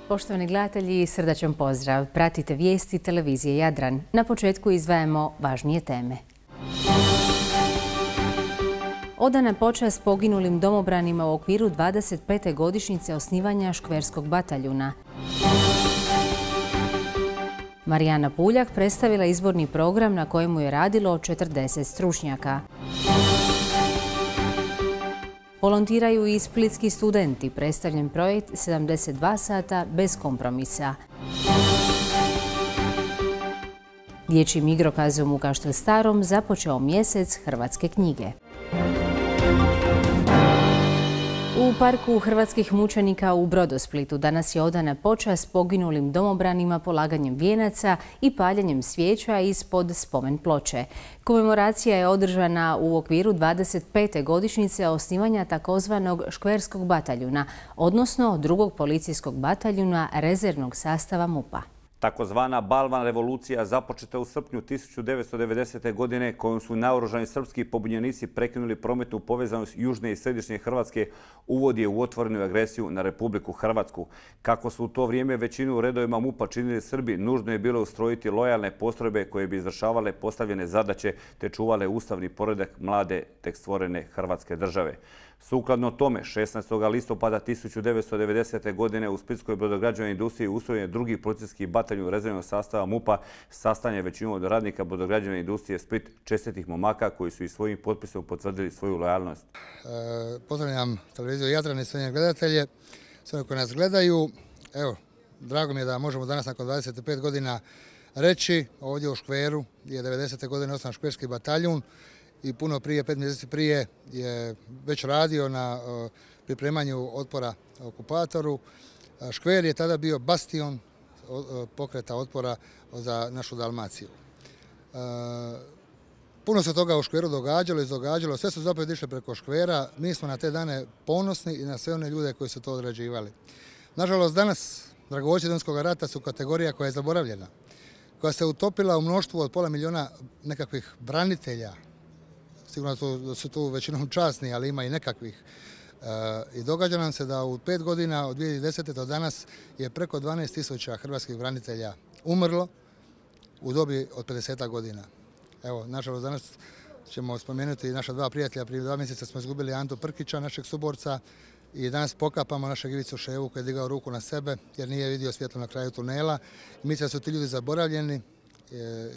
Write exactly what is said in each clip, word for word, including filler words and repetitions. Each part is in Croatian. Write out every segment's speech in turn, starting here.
Poštovani gledatelji, srdačan pozdrav. Pratite vijesti televizije Jadran. Na početku izdvajamo važnije teme. Odana počast poginulim domobranima u okviru dvadeset pete godišnjice osnivanja Škverskog bataljuna. Marijana Puljak predstavila izborni program na kojemu je radilo četrdeset stručnjaka. Volontiraju i splitski studenti, predstavljen projekt sedamdeset dva sata bez kompromisa. Dječjim igrokazom u Kaštel Starom započeo mjesec hrvatske knjige. U parku hrvatskih mučenika u Brodosplitu danas je odana počast poginulim domobranima polaganjem vijenaca i paljenjem svijeća ispod spomen ploče. Komemoracija je održana u okviru dvadeset pete godišnjice osnivanja takozvanog Škverskog bataljuna, odnosno drugog policijskog bataljuna rezervnog sastava MUP-a. Takozvana Balvan revolucija započeta u srpnju tisuću devetsto devedesete. godine kojom su naoružani srpski pobunjenici prekinuli prometnu povezanost južne i središnje Hrvatske, uvod je u otvorenu agresiju na Republiku Hrvatsku. Kako su u to vrijeme većinu u redovima MUP-a činili Srbi, nužno je bilo ustrojiti lojalne postrojbe koje bi izvršavale postavljene zadaće te čuvale ustavni poredak mlade tek stvorene Hrvatske države. Sukladno tome, šesnaestog listopada tisuću devetsto devedesete. godine u Splitskoj brodograđevnoj industriji ustrojen je drugi policijski bataljun rezervnog sastava MUP-a, sastavljen većinom od radnika brodograđevne industrije Split, čestitih momaka koji su i svojim potpisom potvrdili svoju lojalnost. E, pozdravljam televiziju Jadran i sve njene gledatelje, sve koji nas gledaju. Evo, drago mi je da možemo danas nakon dvadeset pet godina reći ovdje u Škveru je devedesete. godine osnovan Škverski bataljun. I puno prije, pet mjeseci prije, je već radio na uh, pripremanju otpora okupatoru. Uh, Škver je tada bio bastion uh, pokreta otpora za našu Dalmaciju. Uh, puno se toga u Škveru događalo i događalo, sve su zapravo išle preko Škvera. Mi smo na te dane ponosni i na sve one ljude koji su to odrađivali. Nažalost, danas dragovoljci Domovinskog rata su kategorija koja je zaboravljena, koja se utopila u mnoštvu od pola milijuna nekakvih branitelja. Sigurno da su tu većinom časni, ali ima i nekakvih. I događa nam se da u pet godina od dvije tisuće desete. do danas je preko dvanaest tisuća hrvatskih branitelja umrlo u dobi od pedeset godina. Evo, nažalost, danas ćemo spomenuti naša dva prijatelja. Prije dva mjeseca smo izgubili Antu Prkića, našeg suborca, i danas pokapamo našeg Ivicu Ševu koji je digao ruku na sebe jer nije vidio svjetlo na kraju tunela. I mislim da su ti ljudi zaboravljeni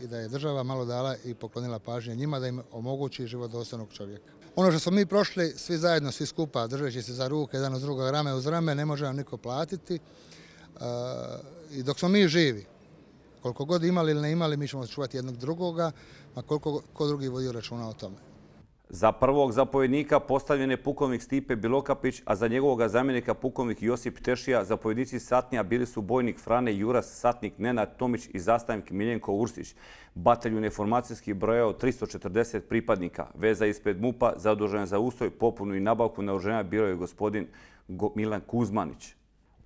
i da je država malo dala i poklonila pažnje njima da im omogući život dostojnog čovjeka. Ono što smo mi prošli, svi zajedno, svi skupa, držeći se za ruke, jedan uz druga, rame uz rame, ne može nam niko platiti. I dok smo mi živi, koliko god imali ili ne imali, mi ćemo čuvati jednog drugoga, a koliko ko drugi vodio računa o tome. Za prvog zapovjednika postavljen je pukovnik Stipe Bilokapić, a za njegovog zamjenika pukovnik Josip Tešija. Zapovjednici satnija bili su bojnik Frane Juras, satnik Nenad Tomić i zastavnik Miljenko Ursić. Bataljun je formacijski brojao tristo četrdeset pripadnika. Veza ispred MUP-a zadužena za ustroj, popunu i nabavku naoružanja bio je gospodin Milan Kuzmanić.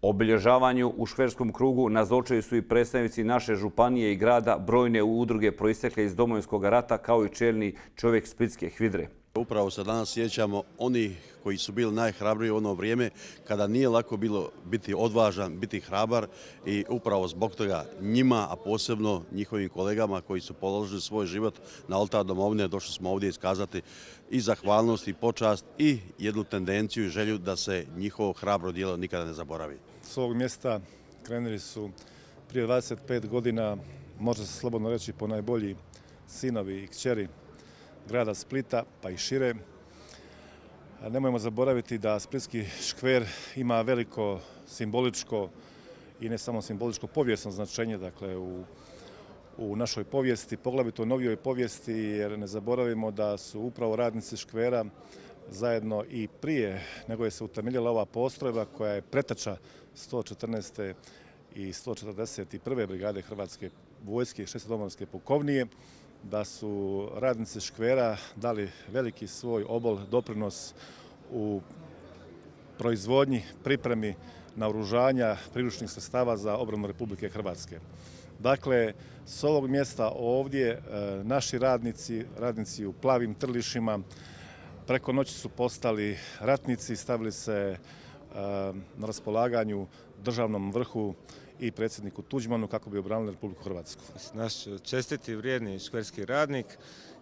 Obilježavanju u Škverskom krugu nazočili su i predstavnici naše županije i grada, brojne udruge proistekle iz Domovinskog rata, kao i čelni čovjek splitske HVIDRE. Upravo se danas sjećamo onih koji su bili najhrabriji u ono vrijeme kada nije lako bilo biti odvažan, biti hrabar, i upravo zbog toga njima, a posebno njihovim kolegama koji su položili svoj život na oltar domovine, došli smo ovdje iskazati i zahvalnost i počast i jednu tendenciju i želju da se njihovo hrabro djelo nikada ne zaboravi. S ovog mjesta krenuli su prije dvadeset pet godina, može se slobodno reći, po najbolji sinovi i kćeri grada Splita, pa i šire. Nemojmo zaboraviti da Splitski škver ima veliko simboličko i ne samo simboličko, povijesno značenje, dakle, u, u našoj povijesti, poglavito u novijoj povijesti, jer ne zaboravimo da su upravo radnici škvera zajedno i prije nego je se utemeljila ova postrojba koja je preteča sto četrnaeste i sto četrdeset prve brigade Hrvatske vojske i šeste domovinske pukovnije, da su radnici škvera dali veliki svoj obol, doprinos u proizvodnji, pripremi naoružanja priručnih sredstava za obranu Republike Hrvatske. Dakle, s ovog mjesta ovdje naši radnici, radnici u plavim trlišima, preko noći su postali ratnici, stavili se na raspolaganju državnom vrhu i predsjedniku Tuđmanu kako bi obranili Republiku Hrvatsku. Naš čestiti, vrijedni škverski radnik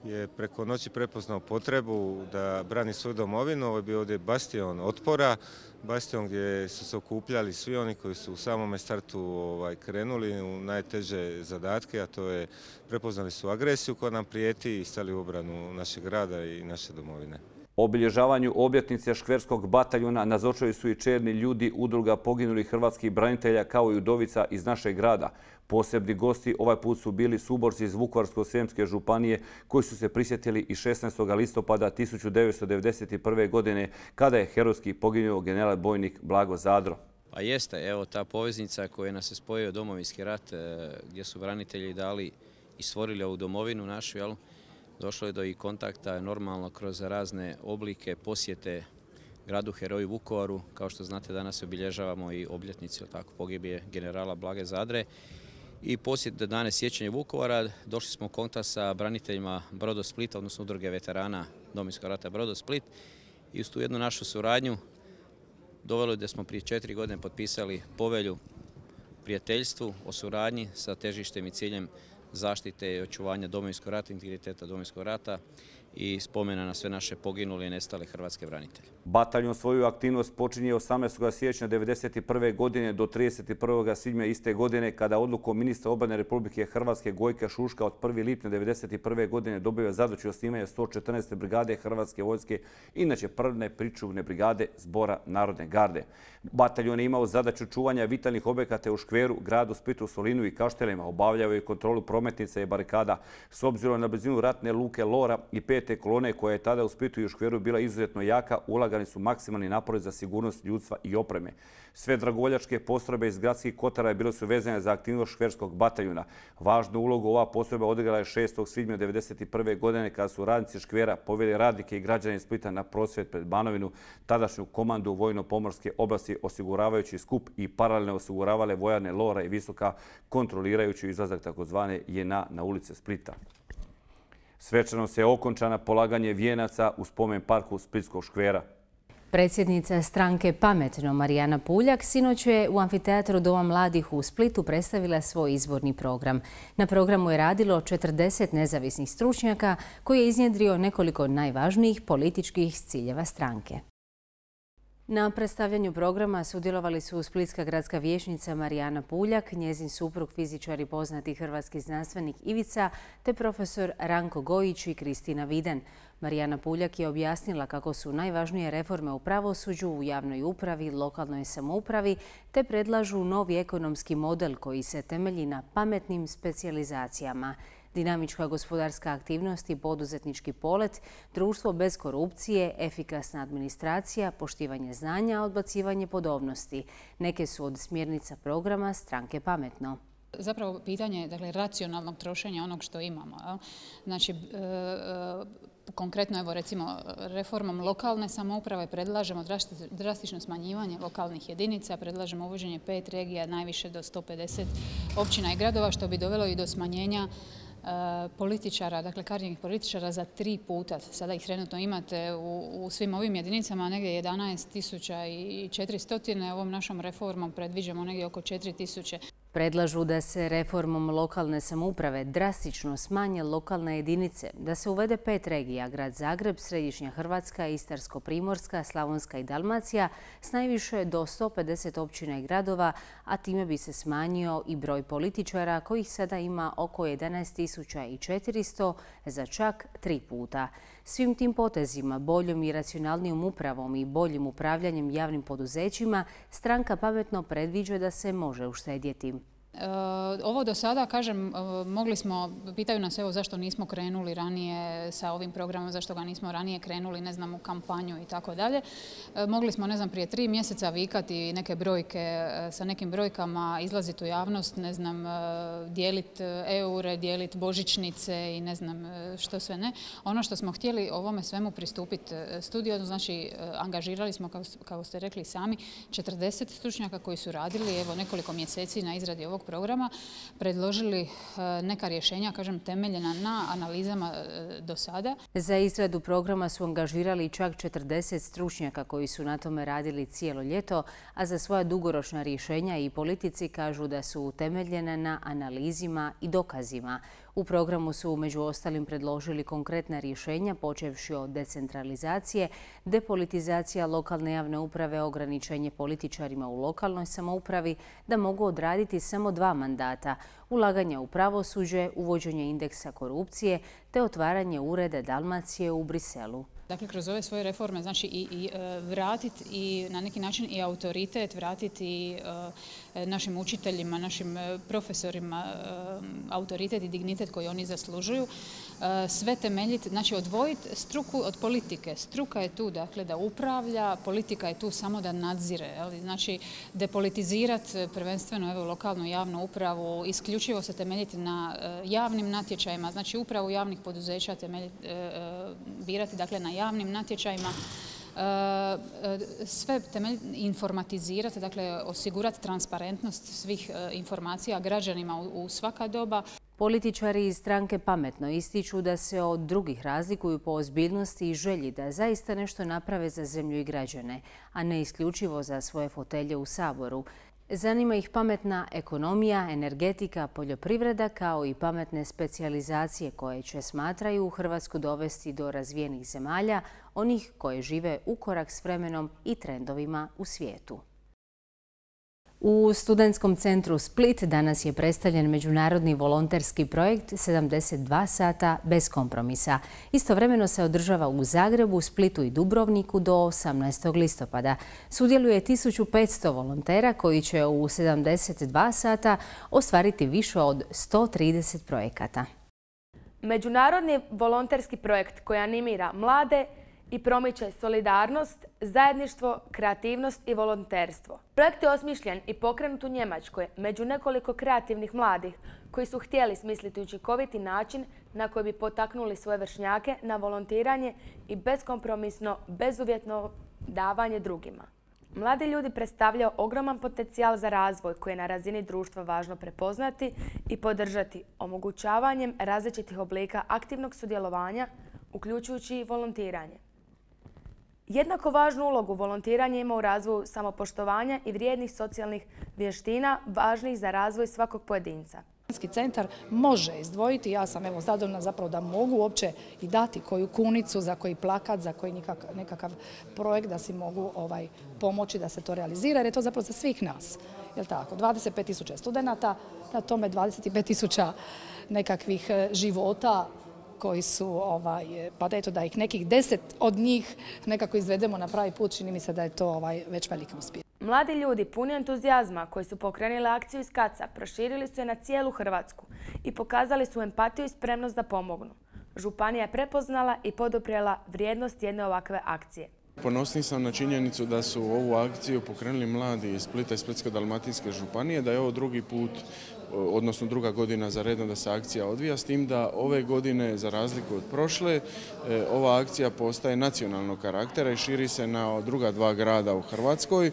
je preko noći prepoznao potrebu da brani svoju domovinu. Ovo je bio ovdje bastion otpora, bastion gdje su se okupljali svi oni koji su u samome startu ovaj, krenuli u najteže zadatke, a to je prepoznali su agresiju koja nam prijeti i stali u obranu našeg grada i naše domovine. Obilježavanju obljetnice škverskog bataljuna nazočili su i čelni ljudi udruga poginulih hrvatskih branitelja kao i udovica iz našeg grada. Posebni gosti ovaj put su bili suborci iz Vukovarsko-srijemske županije koji su se prisjetili i šesnaestog listopada tisuću devetsto devedeset prve. godine kada je herojski poginuo general bojnik Blago Zadro. Pa jeste, evo ta poveznica koja nas je spojio Domovinski rat gdje su branitelji dali i stvorili ovu domovinu našu, jel? Došlo je do i kontakta normalno kroz razne oblike posjete gradu heroju Vukovaru. Kao što znate, danas obilježavamo i obljetnicu tako pogibije generala Blage Zadre. I posjet dane sjećanja Vukovara došli smo u kontakt sa braniteljima Brodosplita, odnosno udruge veterana Domovinskog rata Brodosplit. I uz tu jednu našu suradnju dovelo je da smo prije četiri godine potpisali povelju prijateljstvu o suradnji sa težištem i ciljem zaštite i očuvanja Domovinskog rata, integriteta Domovinskog rata i spomena na sve naše poginule i nestale hrvatske branitelje. Bataljon svoju aktivnost počinje osamnaestog siječnja devedeset prve. godine do trideset prvog svibnja iste godine kada odlukom ministra obrane Republike Hrvatske Gojka Šuška od prvog lipnja devedeset prve. godine dobio zadaću osnivanja sto četrnaeste. brigade Hrvatske vojske, inače prve pričuvne brigade Zbora Narodne garde. Bataljon je imao zadaću čuvanja vitalnih objekata u Škveru, gradu Splitu, Solinu i Kaštelima, obavljao je kontrolu prometnica i barikada. S obzirom na blizinu ratne luke Lora i pete kolone koja je tada u Splitu i u Škveru bila izuzetno jaka, ulagani su maksimalni napori za sigurnost ljudstva i opreme. Sve dragovoljačke postrojbe iz gradskih kotara bile su vezane za aktivnost škverskog bataljuna. Važnu ulogu ova postrojba odigrala je šestog svibnja devedeset prve. godine kada su radnici Škvera poveli radnike i građane Splita na prosvjed pred Banovinu, tadašnju komandu vojno-pomorske oblasti, osiguravajući skup i paralelno osiguravale vojarne Lora i Visoka, kontrolirajući izlazak takozvane J N A na ulice Splita. Svečano se okončana polaganje vijenaca u spomen parku Splitskog Škvera. Predsjednica stranke Pametno Marijana Puljak sinoć je u amfiteatru Doma mladih u Splitu predstavila svoj izborni program. Na programu je radilo četrdeset nezavisnih stručnjaka koji je iznjedrio nekoliko najvažnijih političkih ciljeva stranke. Na predstavljanju programa sudjelovali su splitska gradska vijećnica Marijana Puljak, njezin suprug fizičar i poznati hrvatski znanstvenik Ivica, te profesor Ranko Gojić i Kristina Viden. Marijana Puljak je objasnila kako su najvažnije reforme u pravosuđu, u javnoj upravi, lokalnoj samoupravi, te predlažu novi ekonomski model koji se temelji na pametnim specijalizacijama. Dinamička gospodarska aktivnost i poduzetnički polet, društvo bez korupcije, efikasna administracija, poštivanje znanja, odbacivanje podobnosti. Neke su od smjernica programa stranke Pametno. Zapravo pitanje dakle, racionalnog trošenja onog što imamo. Jel? Znači, e, konkretno evo recimo reformom lokalne samouprave predlažemo drastično smanjivanje lokalnih jedinica, predlažemo uvođenje pet regija, najviše do sto pedeset općina i gradova, što bi dovelo i do smanjenja političara, dakle karijernih političara za tri puta. Sada ih trenutno imate u, u svim ovim jedinicama negdje jedanaest tisuća četiristo, ovom našom reformom predviđamo negdje oko četiri tisuće. Predlažu da se reformom lokalne samouprave drastično smanje lokalne jedinice, da se uvede pet regija, grad Zagreb, Središnja Hrvatska, Istarsko-Primorska, Slavonska i Dalmacija, s najviše do sto pedeset općina i gradova, a time bi se smanjio i broj političara kojih sada ima oko jedanaest tisuća četiristo za čak tri puta. Svim tim potezima, boljom i racionalnijom upravom i boljim upravljanjem javnim poduzećima, stranka Pametno predviđa da se može uštedjeti. Ovo do sada, kažem, mogli smo, pitaju nas evo zašto nismo krenuli ranije sa ovim programom, zašto ga nismo ranije krenuli, ne znam, u kampanju i tako dalje. Mogli smo, ne znam, prije tri mjeseca vikati neke brojke, sa nekim brojkama izlaziti u javnost, ne znam, dijeliti eure, dijeliti božićnice i ne znam što sve ne. Ono što smo htjeli ovome svemu pristupiti studiozno, znači angažirali smo, kao ste rekli sami, četrdeset stručnjaka koji su radili evo nekoliko mjeseci na izradi ovog ovog programa predložili neka rješenja, kažem, temeljena na analizama do sada. Za izradu programa su angažirali čak četrdeset stručnjaka koji su na tome radili cijelo ljeto, a za svoja dugoročna rješenja i politici kažu da su utemeljena na analizima i dokazima. U programu su među ostalim predložili konkretna rješenja počevši od decentralizacije, depolitizacija lokalne javne uprave, ograničenje političarima u lokalnoj samoupravi da mogu odraditi samo dva mandata, ulaganja u pravosuđe, uvođenje indeksa korupcije te otvaranje ureda Dalmacije u Briselu. Dakle, kroz ove svoje reforme, znači i, i vratiti i na neki način i autoritet, vratiti i e, našim učiteljima, našim profesorima e, autoritet i dignitet koji oni zaslužuju, e, sve temeljiti, znači odvojiti struku od politike. Struka je tu, dakle, da upravlja, politika je tu samo da nadzire. Ali, znači, depolitizirati prvenstveno evo, lokalnu javnu upravu, isključivo se temeljiti na e, javnim natječajima, znači upravu javnih poduzeća temeljiti, e, birati, dakle, na javnim natječajima, sve temeljiti, informatizirati, dakle osigurati transparentnost svih informacija građanima u svaka doba. Političari iz stranke Pametno ističu da se od drugih razlikuju po ozbiljnosti i želji da zaista nešto naprave za zemlju i građane, a ne isključivo za svoje fotelje u Saboru. Zanima ih pametna ekonomija, energetika, poljoprivreda kao i pametne specijalizacije koje će, smatraju, Hrvatsku dovesti do razvijenih zemalja, onih koje žive u korak s vremenom i trendovima u svijetu. U Studentskom centru Split danas je predstavljen međunarodni volonterski projekt sedamdeset dva sata bez kompromisa. Istovremeno se održava u Zagrebu, Splitu i Dubrovniku do osamnaestog listopada. Sudjeluje tisuću petsto volontera koji će u sedamdeset dva sata ostvariti više od sto trideset projekata. Međunarodni volonterski projekt koji animira mlade i promiče solidarnost, zajedništvo, kreativnost i volonterstvo. Projekt je osmišljen i pokrenut u Njemačkoj među nekoliko kreativnih mladih koji su htjeli smisliti učinkoviti način na koji bi potaknuli svoje vršnjake na volontiranje i beskompromisno, bezuvjetno davanje drugima. Mladi ljudi predstavljaju ogroman potencijal za razvoj koji je na razini društva važno prepoznati i podržati omogućavanjem različitih oblika aktivnog sudjelovanja, uključujući i volontiranje. Jednako važnu ulogu volontiranje ima u razvoju samopoštovanja i vrijednih socijalnih vještina važnih za razvoj svakog pojedinca. Studentski centar može izdvojiti, ja sam evo zadovoljna zapravo da mogu uopće i dati koju kunicu, za koji plakat, za koji nekakav, nekakav projekt da si mogu ovaj, pomoći da se to realizira, jer je to zapravo za svih nas. Jel tako? dvadeset pet tisuća studenata, na tome dvadeset pet tisuća nekakvih života koji su, ovaj, pa da eto da ih nekih deset od njih nekako izvedemo na pravi put, čini mi se da je to ovaj, već veliki uspjeh. Mladi ljudi puni entuzijazma koji su pokrenuli akciju iz Kaca proširili su je na cijelu Hrvatsku i pokazali su empatiju i spremnost da pomognu. Županija je prepoznala i poduprijela vrijednost jedne ovakve akcije. Ponosni sam na činjenicu da su ovu akciju pokrenuli mladi iz Splita i Splitsko-dalmatinske županije, da je ovo drugi put, odnosno druga godina za redom da se akcija odvija, s tim da ove godine, za razliku od prošle, ova akcija postaje nacionalnog karaktera i širi se na druga dva grada u Hrvatskoj.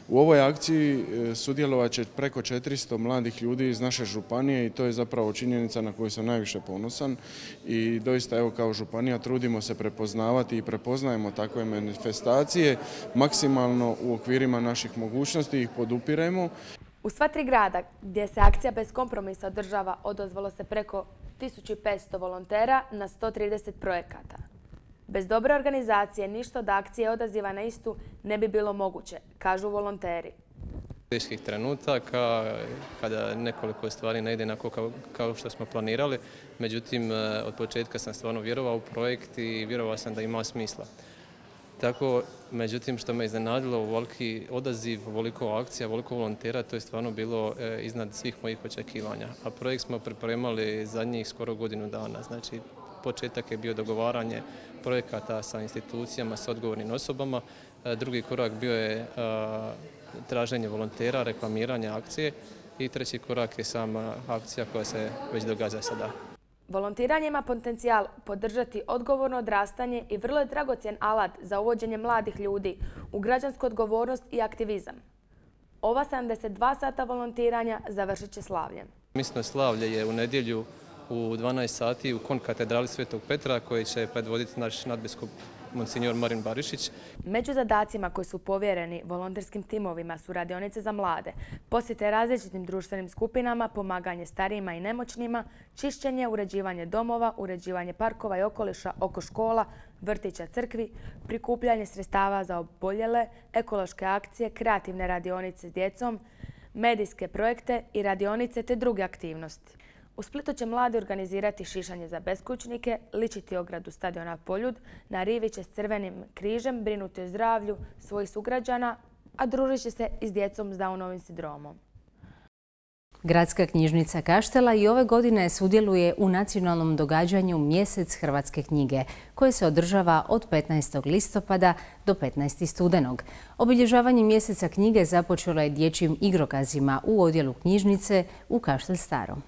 U ovoj akciji sudjelovat će preko četiristo mladih ljudi iz naše županije i to je zapravo činjenica na koju sam najviše ponosan i doista evo kao županija trudimo se prepoznavati i prepoznajemo takve manifestacije, maksimalno u okvirima naših mogućnosti ih podupiremo. U sva tri grada gdje se akcija bez kompromisa održava odozvalo se preko tisuću petsto volontera na sto trideset projekata. Bez dobre organizacije ništa od akcije odaziva na istu ne bi bilo moguće, kažu volonteri. Teških trenutaka kada nekoliko stvari ne ide onako kao, kao što smo planirali, međutim od početka sam stvarno vjerovao u projekt i vjerovao sam da ima smisla. Tako, međutim, što me iznenadilo, voliki odaziv, voliko akcija, voliko volontera, to je stvarno bilo e, iznad svih mojih očekivanja. A projekt smo pripremali zadnjih skoro godinu dana. Znači, početak je bio dogovaranje projekata sa institucijama, sa odgovornim osobama. E, drugi korak bio je e, traženje volontera, reklamiranje akcije i treći korak je sama akcija koja se već događa sada. Volontiranje ima potencijal podržati odgovorno odrastanje i vrlo je dragocjen alat za uvođenje mladih ljudi u građansku odgovornost i aktivizam. Ova sedamdeset dva sata volontiranja završit će slavljem. Misno slavlje je u nedjelju u dvanaest sati u konkatedrali Svetog Petra koji će predvoditi naš nadbiskup Monsignor Marin Barišić. Među zadacima koji su povjereni volonterskim timovima su radionice za mlade, posjete različitim društvenim skupinama, pomaganje starijima i nemoćnima, čišćenje, uređivanje domova, uređivanje parkova i okoliša oko škola, vrtića, crkvi, prikupljanje sredstava za oboljele, ekološke akcije, kreativne radionice s djecom, medijske projekte i radionice te druge aktivnosti. U Splitu će mladi organizirati šišanje za beskućnike, ličiti ogradu stadiona Poljud, na rivi će s Crvenim križem brinuti o zdravlju svojih sugrađana, a družit će se i s djecom s Downovim sindromom. Gradska knjižnica Kaštela i ove godine sudjeluje u nacionalnom događanju Mjesec hrvatske knjige, koje se održava od petnaestog listopada do petnaestog studenog. Obilježavanje Mjeseca knjige započelo je dječjim igrokazima u odjelu knjižnice u Kaštel Starom.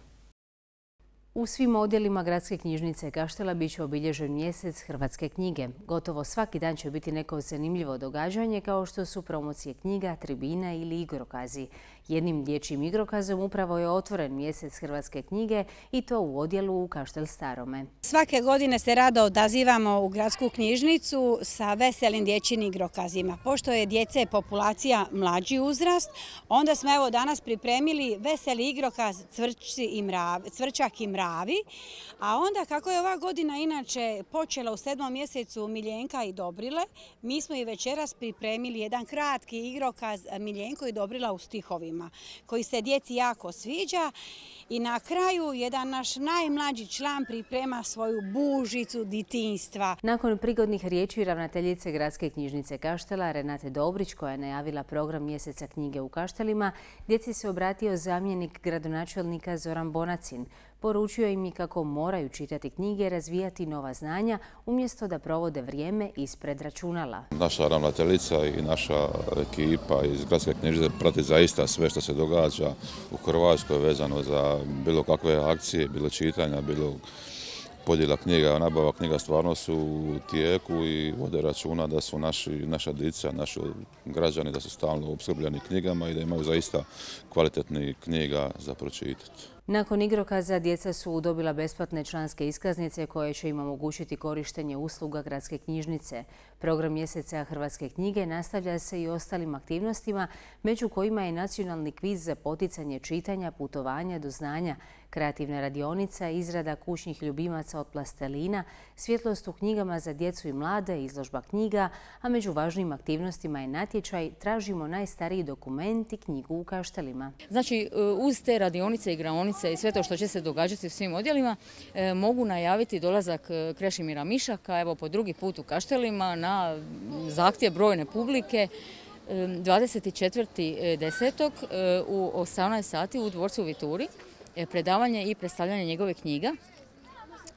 U svim odjelima Gradske knjižnice Kaštela bit će obilježen Mjesec hrvatske knjige. Gotovo svaki dan će biti neko zanimljivo događanje kao što su promocije knjiga, tribina ili igrokazi. Jednim dječjim igrokazom upravo je otvoren Mjesec hrvatske knjige i to u odjelu u Kaštel Starome. Svake godine se rado odazivamo u Gradsku knjižnicu sa veselim dječjim igrokazima. Pošto je djece populacija mlađi uzrast, onda smo evo danas pripremili veseli igrokaz Cvrčak i mravi. A onda kako je ova godina inače počela u sedmom mjesecu Miljenka i Dobrile, mi smo i večeras pripremili jedan kratki igrokaz Miljenko i Dobrila u stihovima, koji se djeci jako sviđa. I na kraju jedan naš najmlađi član priprema svoju bužicu djetinjstva. Nakon prigodnih riječi ravnateljice Gradske knjižnice Kaštela Renate Dobrić, koja je najavila program Mjeseca knjige u Kaštelima, djeci se obratio zamjenik gradonačelnika Zoran Bonacin. Poručio im i kako moraju čitati knjige i razvijati nova znanja umjesto da provode vrijeme ispred računala. Naša ravnateljica i naša ekipa iz Gradske knjižnice prati zaista sve što se događa u Hrvatskoj vezano za bilo kakve akcije, bilo čitanja, bilo podjela knjiga, nabava knjiga stvarno su u tijeku i vode računa da su naši, naša djeca, naši građani da su stalno opskrbljeni knjigama i da imaju zaista kvalitetnih knjiga za pročitati. Nakon igrokaza djeca su dobila besplatne članske iskaznice koje će im omogućiti korištenje usluga Gradske knjižnice. Program Mjeseca hrvatske knjige nastavlja se i ostalim aktivnostima, među kojima je nacionalni kviz za poticanje čitanja, putovanja do znanja, kreativna radionica, izrada kućnih ljubimaca od plastelina, svjetlost u knjigama za djecu i mlade, izložba knjiga, a među važnim aktivnostima je natječaj Tražimo najstariji dokument i knjigu u Kaštelima. Znači, uz te radionice i igraonice i sve to što će se događati u svim odjelima, e, mogu najaviti dolazak Krešimira Mišaka, evo po drugi put u Kaštelima, na zahtjev brojne publike, dvadeset četvrtog desetog u osamnaest sati u dvorcu u Vituri, predavanje i predstavljanje njegove knjiga.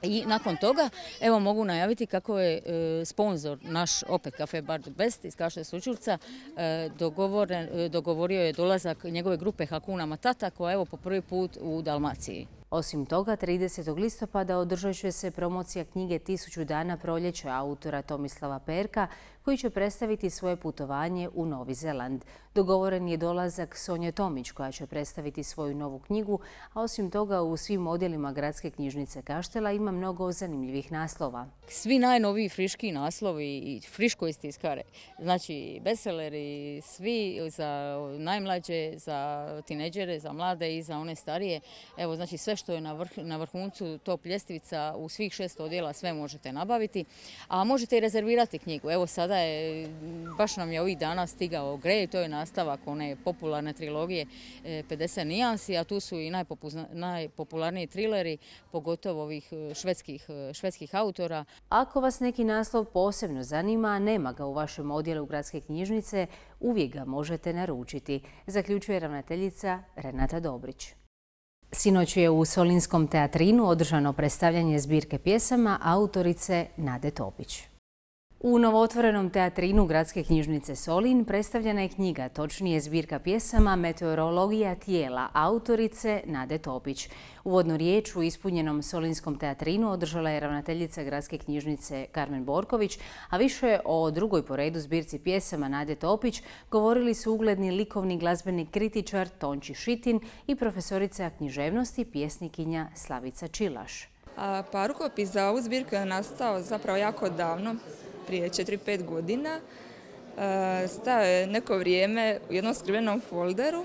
I nakon toga, evo mogu najaviti kako je e, sponzor naš opet Cafe Bar the Best iz Kaštela Sućurca e, dogovorio je dolazak njegove grupe Hakuna Matata koja je evo po prvi put u Dalmaciji. Osim toga, tridesetog listopada održat će se promocija knjige Tisuću dana proljeća autora Tomislava Perka, koji će predstaviti svoje putovanje u Novi Zeland. Dogovoren je dolazak Sonje Tomić, koja će predstaviti svoju novu knjigu, a osim toga u svim odjelima Gradske knjižnice Kaštela ima mnogo zanimljivih naslova. Svi najnoviji friški naslovi i friško istiskare, znači bestselleri, svi za najmlađe, za tineđere, za mlade i za one starije. Evo, znači sve što je na, vrh, na vrhuncu top ljestvica u svih šest odjela sve možete nabaviti, a možete i rezervirati knjigu. Evo sada je, baš nam je ovih dana stigao Grey, to je nastavak one popularne trilogije pedeset nijansi, a tu su i najpopularniji trileri, pogotovo ovih švedskih, švedskih autora. Ako vas neki naslov posebno zanima, a nema ga u vašem odjelu Gradske knjižnice, uvijek ga možete naručiti, zaključuje ravnateljica Renata Dobrić. Sinoć je u Solinskom teatrinu održano predstavljanje zbirke pjesama autorice Nade Topić. U novootvorenom teatrinu Gradske knjižnice Solin predstavljena je knjiga, točnije zbirka pjesama Meteorologija tijela, autorice Nade Topić. Uvodnu riječ u ispunjenom solinskom teatrinu održala je ravnateljica Gradske knjižnice Karmen Borković, a više o drugoj po redu zbirci pjesama Nade Topić govorili su ugledni likovni glazbeni kritičar Tonči Šitin i profesorica književnosti pjesnikinja Slavica Čilaš. Pa rukopis za ovu zbirku je nastao zapravo jako davno, prije četiri pet godina. Stao je neko vrijeme u jednom skrivenom folderu.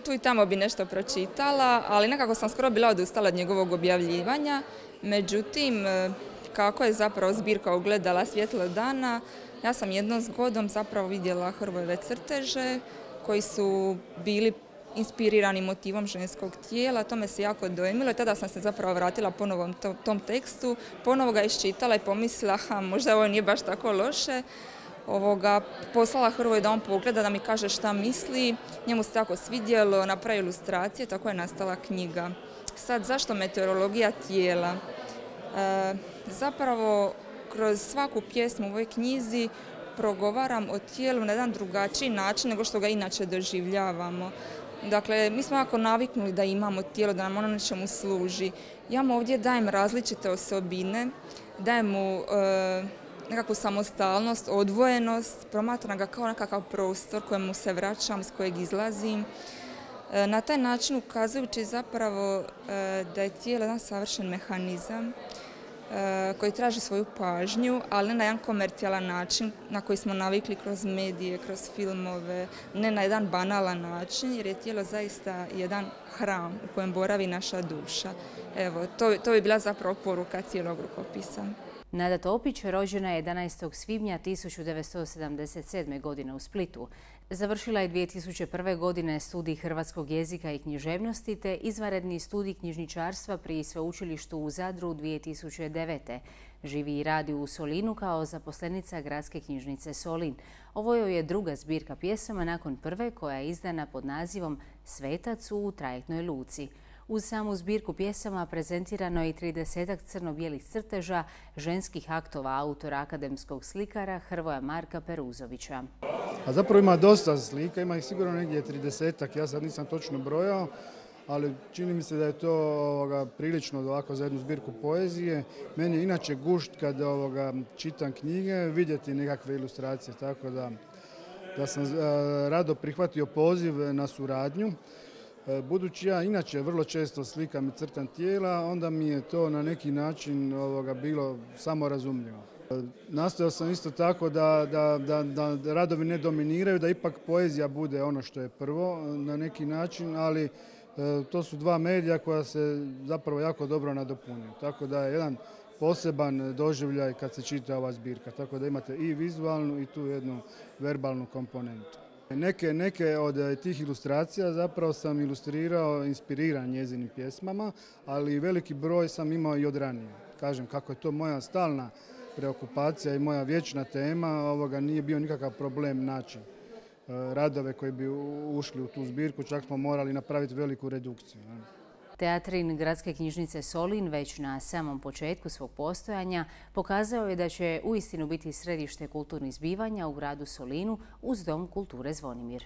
Tu i tamo bi nešto pročitala, ali nekako sam skoro bila odustala od njegovog objavljivanja. Međutim, kako je zapravo zbirka ugledala svjetlo dana, ja sam jednom zgodom zapravo vidjela Hrvojeve crteže koji su bili inspirirani motivom ženskog tijela. To me se jako dojmilo i tada sam se zapravo vratila ponovo tom tekstu, ponovo ga iščitala i pomislila, ha, možda ovo nije baš tako loše. Ovoga, poslala Hrvoj da on pogleda, da mi kaže šta misli, njemu se tako svidjelo, napravi ilustracije, tako je nastala knjiga. Sad, zašto meteorologija tijela? E, zapravo, kroz svaku pjesmu u ovoj knjizi progovaram o tijelu na jedan drugačiji način nego što ga inače doživljavamo. Dakle, mi smo jako naviknuli da imamo tijelo, da nam ono nečemu služi. Ja mu ovdje dajem različite osobine, dajem mu e, nekakvu samostalnost, odvojenost, promatram ga kao nekakav prostor kojemu se vraćam, iz kojeg izlazim. E, na taj način ukazujući zapravo e, da je tijelo jedan savršen mehanizam koji traži svoju pažnju, ali ne na jedan komercijalan način na koji smo navikli kroz medije, kroz filmove, ne na jedan banalan način, jer je tijelo zaista jedan hram u kojem boravi naša duša. Evo, to, to bi bila zapravo poruka cijelog rukopisa. Nada Topić rođena je jedanaestog svibnja tisuću devetsto sedamdeset sedme. godine u Splitu. Završila je dvije tisuće prve. godine studij hrvatskog jezika i književnosti te izvanredni studij knjižničarstva pri sveučilištu u Zadru dvije tisuće devete. Živi i radi u Solinu kao zaposlenica Gradske knjižnice Solin. Ovo joj je druga zbirka pjesama nakon prve koja je izdana pod nazivom Svetac u trajektnoj luci. Uz samu zbirku pjesama prezentirano je i tridesetak crno-bijelih crteža ženskih aktova autora akademskog slikara Hrvoja Marka Peruzovića. A zapravo ima dosta slika, ima ih sigurno negdje tridesetak, ja sad nisam točno brojao, ali čini mi se da je to ovoga, prilično ovako za jednu zbirku poezije. Meni je inače gušt kad ovoga, čitam knjige, vidjeti nekakve ilustracije, tako da, da sam a, rado prihvatio poziv na suradnju. Budući ja inače vrlo često slikam i crtam tijela, onda mi je to na neki način ovoga, bilo samorazumljivo. Nastojao sam isto tako da, da, da, da radovi ne dominiraju, da ipak poezija bude ono što je prvo na neki način, ali e, to su dva medija koja se zapravo jako dobro nadopunjuju. Tako da je jedan poseban doživljaj kad se čita ova zbirka, tako da imate i vizualnu i tu jednu verbalnu komponentu. Neke, neke od tih ilustracija zapravo sam ilustrirao, inspiriran njezinim pjesmama, ali veliki broj sam imao i od ranije. Kažem, kako je to moja stalna preokupacija i moja vječna tema, ovoga nije bio nikakav problem naći radove koji bi ušli u tu zbirku, čak smo morali napraviti veliku redukciju. Teatrin Gradske knjižnice Solin već na samom početku svog postojanja pokazao je da će uistinu biti središte kulturnih zbivanja u gradu Solinu uz Dom kulture Zvonimir.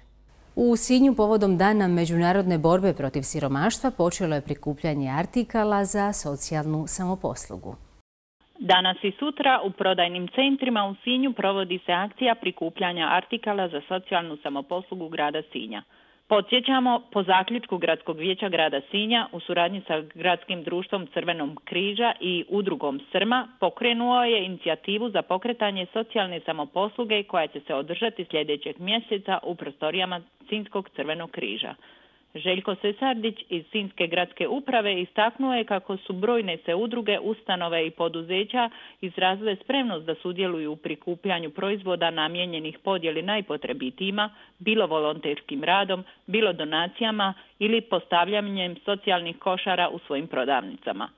U Sinju povodom Dana međunarodne borbe protiv siromaštva počelo je prikupljanje artikala za socijalnu samoposlugu. Danas i sutra u prodajnim centrima u Sinju provodi se akcija prikupljanja artikala za socijalnu samoposlugu grada Sinja. Podsjećamo, po zaključku Gradskog vijeća grada Sinja u suradnji sa Gradskim društvom Crvenog križa i udrugom Srma pokrenuo je inicijativu za pokretanje socijalne samoposluge koja će se održati sljedećeg mjeseca u prostorijama Sinjskog Crvenog križa. Željko Sesardić iz Sinjske gradske uprave istaknuo je kako su brojne se udruge, ustanove i poduzeća izrazile spremnost da sudjeluju u prikupljanju proizvoda namijenjenih podjeli najpotrebitijima, bilo volonterskim radom, bilo donacijama ili postavljanjem socijalnih košara u svojim prodavnicama.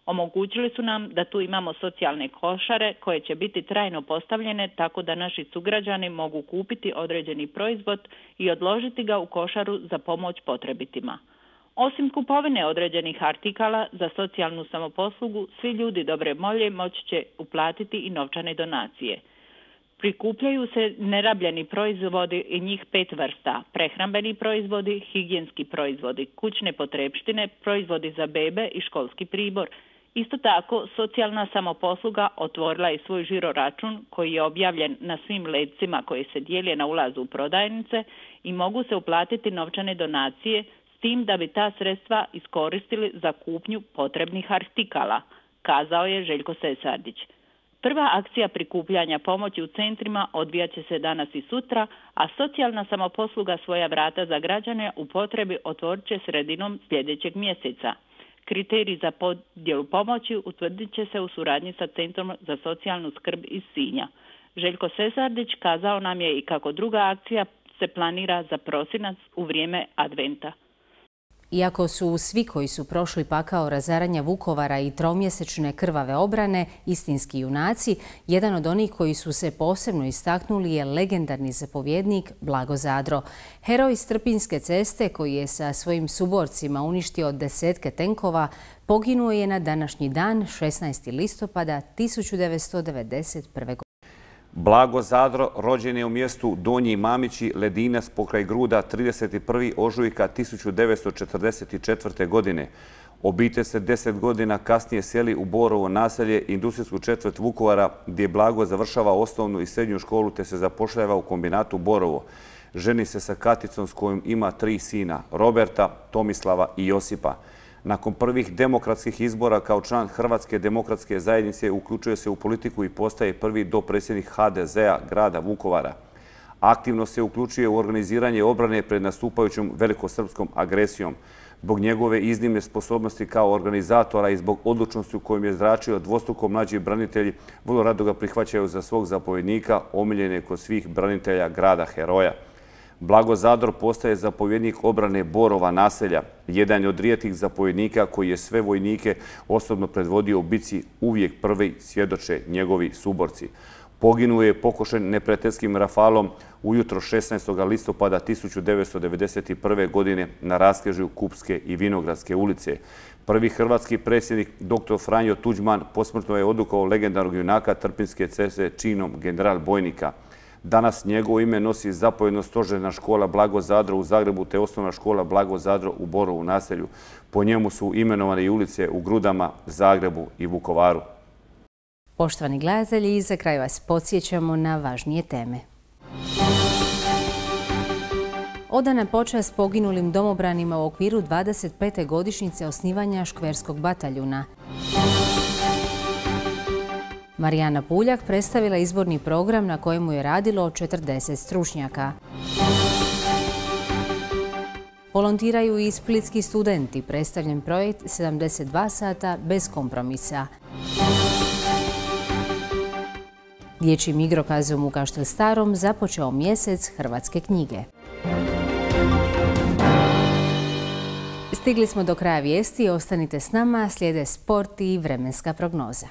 Omogućili su nam da tu imamo socijalne košare koje će biti trajno postavljene tako da naši sugrađani mogu kupiti određeni proizvod i odložiti ga u košaru za pomoć potrebitima. Osim kupovine određenih artikala za socijalnu samoposlugu, svi ljudi dobre volje moći će uplatiti i novčane donacije. Prikupljaju se nerabljeni proizvodi i njih pet vrsta: prehrambeni proizvodi, higijenski proizvodi, kućne potrepštine, proizvodi za bebe i školski pribor. Isto tako, socijalna samoposluga otvorila je svoj žiro račun koji je objavljen na svim lecima koji se dijele na ulazu u prodajnice i mogu se uplatiti novčane donacije s tim da bi ta sredstva iskoristili za kupnju potrebnih artikala, kazao je Željko Sesardić. Prva akcija prikupljanja pomoći u centrima odvijat će se danas i sutra, a socijalna samoposluga svoja vrata za građane u potrebi otvorit će sredinom sljedećeg mjeseca. Kriteriji za podjelu pomoći utvrdit će se u suradnji sa Centrom za socijalnu skrb iz Sinja. Željko Sesardić kazao nam je i kako druga akcija se planira za prosinac u vrijeme adventa. Iako su svi koji su prošli pakao razaranja Vukovara i tromjesečne krvave obrane istinski junaci, jedan od onih koji su se posebno istaknuli je legendarni zapovjednik Blago Zadro. Heroj Strpinjske ceste koji je sa svojim suborcima uništio desetke tenkova, poginuo je na današnji dan, šesnaestog listopada tisuću devetsto devedeset prve. godine. Blago Zadro rođen je u mjestu Donji Mamići, Ledinac pokraj Gruda trideset prvog ožujka tisuću devetsto četrdeset četvrte. godine. Obitelj se deset godina kasnije seli u Borovo naselje, industrijsku četvrt Vukovara, gdje Blago završava osnovnu i srednju školu te se zapošljava u kombinatu Borovo. Ženi se sa Katicom s kojom ima tri sina, Roberta, Tomislava i Josipa. Nakon prvih demokratskih izbora kao član Hrvatske demokratske zajednice uključuje se u politiku i postaje prvi dopredsjednik ha de zea grada Vukovara. Aktivno se uključuje u organiziranje obrane pred nastupajućom velikosrpskom agresijom. Zbog njegove iznimne sposobnosti kao organizatora i zbog odlučnosti u kojom je zračio dvostruko mlađi branitelji, vrlo rado ga prihvaćaju za svog zapovjednika, omiljene kod svih branitelja grada heroja. Blago Zadro postaje zapovjednik obrane Borova naselja, jedan je od rijetkih zapovjednika koji je sve vojnike osobno predvodio u bici, uvijek prvi svjedoče njegovi suborci. Poginuo je pokošen neprijateljskim rafalom ujutro šesnaestog listopada tisuću devetsto devedeset prve. godine na raskrižju Kupske i Vinogradske ulice. Prvi hrvatski predsjednik doktor Franjo Tuđman posmrtno je odukao legendarnog junaka Trpinjske ceste činom general bojnika. Danas njegovo ime nosi zapovjedno stožerna škola Blago Zadro u Zagrebu te osnovna škola Blago Zadro u Borovu naselju. Po njemu su imenovane i ulice u Grudama, Zagrebu i Vukovaru. Poštovani gledatelji, za kraj vas podsjećamo na važnije teme. Odana počast poginulim domobranima u okviru dvadeset pete godišnjice osnivanja Škverskog bataljuna. Marijana Puljak predstavila izborni program na kojemu je radilo četrdeset stručnjaka. Volontiraju i splitski studenti, predstavljen projekt sedamdeset dva sata bez kompromisa. Dječjim igrokazom u Kaštel Starom započeo mjesec hrvatske knjige. Stigli smo do kraja vijesti, ostanite s nama, slijede sport i vremenska prognoza.